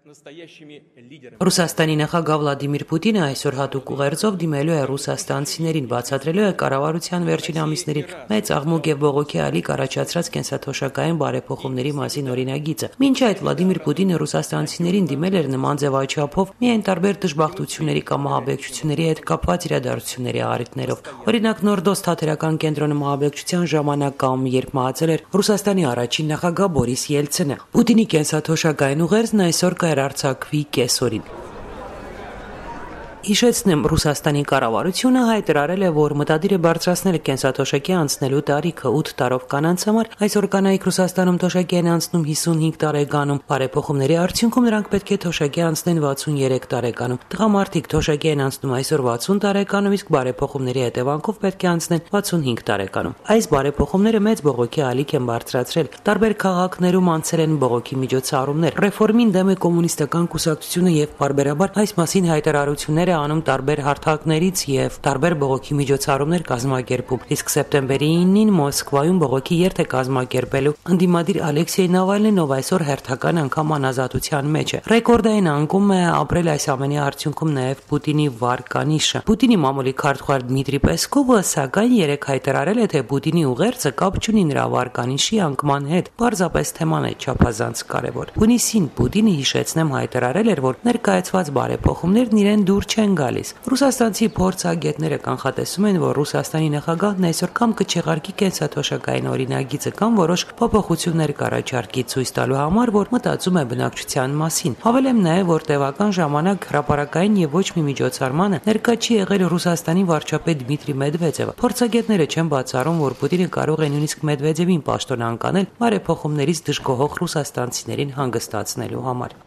Ռուսաստանի նախագահ Վլադիմիր Պուտինը այսօր հատուկ ուղերձով դիմելու է ռուսաստանցիներին, բացատրելու է կառավարության վերջին ամիսներին մեծ աղմուկ եւ բողոքի ալիք առաջացրած կենսաթոշակային բարեփոխումների մասին օրինագիծը։ Մինչ այդ Վլադիմիր Պուտինը ռուսաստանցիներին դիմել էր նման ձևաչափով միայն տարբեր դժբախտությունների կամ ահաբեկչությունների հետ կապված իրադարձությունների առիթներով։ Օրինակ Նորդոստ թատերական կենտրոնի ահաբեկչության ժամանակ կամ երբ մահացել էր Ռուսաստանի առաջին նախագահ Բորիս Ելցինը։ Պուտինի կենսաթոշակային ուղերձն այսօր կհեռարձակվի կեսօրին։ Հիշեցնեմ, Ռուսաստանի կառավարությունը հայտարարել է, որ մտադիր է բարձրացնել կենսաթոշակի անցնելու տարիքը 8 տարով կանանց համար, այսօր կանայք Ռուսաստանում թոշակի են անցնում 55 տարեկանում, բարեփոխումների արդյունքում նրանք պետք է թոշակի անցնեն 63 տարեկանում, տղամարդիկ թոշակի են անցնում այսօր 60 տարեկանում, իսկ բարեփոխումների հետևանքով պետք է անցնեն 65 տարեկանում։ Այս բարեփոխումները մեծ բողոքի ալիք են բարձրացրել, տարբեր քաղաքներում անցել են բողոքի միջոցառումներ, ռեֆորմին դեմ է կոմունիստական կուսակցությունը եւ բարբերաբար այս մասին հայտարարություններ անում տարբեր հարթակներից եւ տարբեր բողոքի միջոցառումներ կազմակերպում, իսկ սեպտեմբերի 9-ին Մոսկվայում բողոքի երթ է կազմակերպելու ընդդիմադիր Ալեքսեյ Նավալնին, ով այսօր հերթական անգամ անազատության մեջ է։ Ռեկորդային անկում է ապրել այս ամենի արդյունքում նաեւ Պուտինի վարկանիշը։ Պուտինի մամուլի քարտուղար Դմիտրի Պեսկովը սակայն երեկ հայտարարել է, թե Պուտինի ուղերձը կապ չունի նրա վարկանիշի անկման հետ, պարզապես թեման է չափազանց կարևոր։ Հունիսին Պուտինը, հիշեցնեմ, հայտարարել էր, որ ներկայացված բարեփոխումներն իրեն դուր չեն գալիս։ Ռուսաստանցի փորձագետները կանխատեսում են, որ Ռուսաստանի նախագահն այսօր կամ կչեղարկի կենսաթոշակային օրինագիծը կամ որոշ փոփոխություններ կառաջարկի ցույց տալու համար, որ մտածում է բնակչության մասին։ Հավելեմ նաև, որ տևական ժամանակ հրապարակային եւ ոչ մի միջոցառմանը ներկա չի եղել Ռուսաստանի վարչապետ Դմիտրի Մեդվեդևը։ Փորձագետները չեն բացառում, որ Պուտինը կարող է նույնիսկ Մեդվեդևին պաշտոն անկանել բարեփոխումներից դժգոհող ռուսաստանցիներին հանգստացնելու համար։